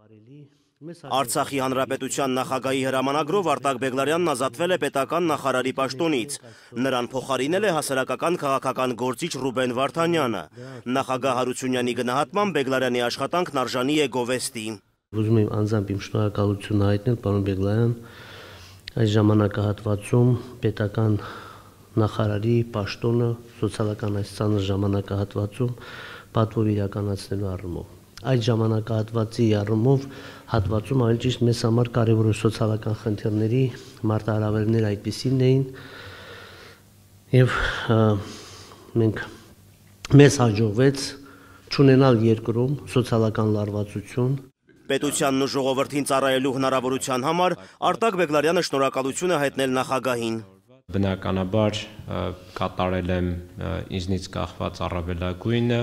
Արցախի հանրապետության նախագահի հրամանագրով Արտակ Բեգլարյանն ազատվել է պետական նախարարի պաշտոնից։ Նրան փոխարինել է հասարակական քաղաքական գործիչ Ռուբեն Վարդանյանը։ Նախագահ Հարությունյանի գնահատմամբ Բեգլարյանի աշխատանքն արժանի է գովեստի։ Ուզում եմ անձամբ իմ շնորհակալությունը հայտնել պարոն Բեգլարյան, այս ժամանակահատվածում պետական նախարարի պաշտոնը սոցիալական այս ծանր ժամանակահատվածում պատվով իրականացնելու առումով։ Այդ ժամանակահատվածի առումով հատվածում ավելի ճիշտ մեզ համար կարևոր սոցիալական խնդիրների մարտահրավերներ այդպիսին էին եւ մեզ հաջողվեց չունենալ երկրում սոցիալական լարվածություն։ Պետությանն ու ժողովրդին ծառայելու հնարավորության համար Արտակ Բեգլարյանը շնորհակալություն է հայտնել նախագահին։ Բնականաբար կատարել եմ ինձնից կախված առավելագույնը,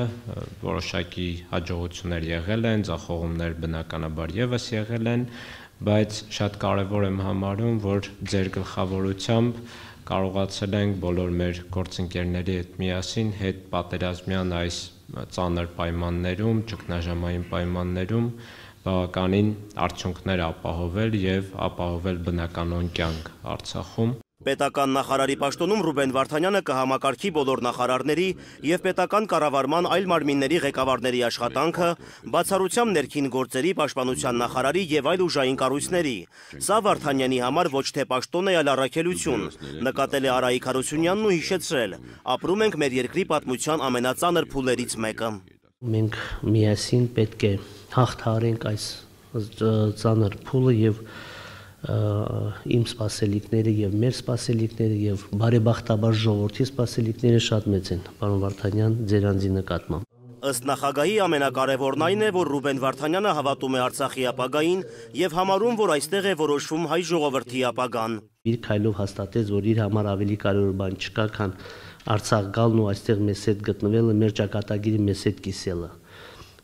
որոշակի հաջողություններ եղել են, ձախողումներ բնականաբար եւս եղել են, բայց շատ կարևոր եմ համարում, որ ձեր գլխավորությամբ կարողացել ենք բոլոր մեր գործընկերների հետ միասին հետ պատերազմյան այս ծանր պայմաններում, ճգնաժամային պայմաններում բավականին արդյունքներ ապահովել եւ ապահովել բնականոն կյանք Արցախում։ Պետական նախարարի պաշտոնում Ռուբեն Վարդանյանը կհամակարգի բոլոր նախարարների եւ պետական կառավարման այլ մարմինների ղեկավարների աշխատանքը, բացառությամբ ներքին գործերի, պաշտպանության նախարարի եւ այլ ուժային կառույցների։ Սա Վարդանյանի համար ոչ թե պաշտոն է, այլ առաքելություն, նկատել է Արայիկ Հարությունյանն ու հիշեցրել. ապրում ենք մեր երկրի պատմության ամենածանր փուլերից մեկը։ Մենք միասին պետք է հաղթահարենք այս ծանր փուլը եւ իմ սպասելիքները եւ մեր սպասելիքները եւ բարեբախտաբար ժողովրդի սպասելիքները շատ մեծ են, պարոն Վարդանյան, ձեր անձի նկատմամբ։ Ըստ նախագահի ամենակարևորն այն է, որ Ռուբեն Վարդանյանը հավատում է Արցախի ապագային եւ համարում, որ այստեղ է որոշվում հայ ժողովրդի ապագան։ Իր քայլով հաստատեց, որ իր համար ավելի կարևոր բան չկա, քան Արցախ գալն ու այստեղ մեզ հետ գտնվելը, մեր ճակատագիրը մեզ հետ կիսելը։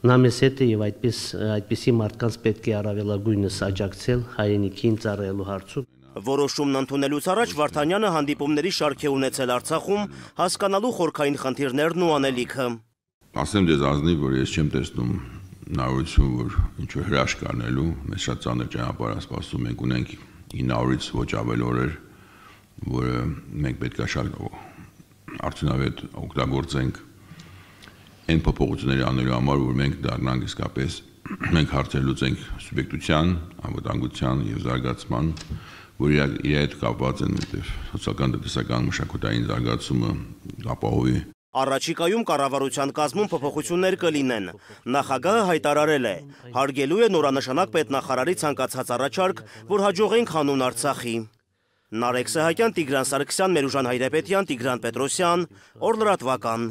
Նա մեզ հետ է եւ այդպիսի մարդկանց պետք է առավելագույնս աջակցել հայրենիքին ծառայելու հարցում։ Որոշումն ընդունելուց առաջ Վարդանյանը հանդիպումների շարք է ունեցել Արցախում, հասկանալու խորքային խնդիրներն ու անելիքը։ Ասեմ ձեզ ազնիվ, որ ես չեմ տեսնում հնարավորություն, որ ինչ-որ հրաշք անելու, մեզ շատ ծանր ճանապարհ է սպասում, մենք ունենք 900-ից ոչ ավել օրեր, որը մենք պետք է շատ արդյունավետ օգտագործենք այն փոփոխությունների անելու համար, որ մենք դառնանք իսկապես մենք հարցեր լուծենք սուբյեկտության, անվտանգության եւ զարգացման, որ իր հետ կապված են սոցիալական, տնտեսական, մշակութային զարգացումը ապահովի։ Առաջիկայում կառավարության կազմում փոփոխություններ կլինեն։ Նախագահը հայտարարել է. հարգելու է նորանշանակ պետնախարարի ցանկացած առաջարկ, որ հաջողենք հանուն Արցախի։ Նարեկ Սահակյան, Տիգրան Սարգսյան, Մերուժան Հայրապետյան, Տիգրան Պետրոսյան, Օր լրատվական։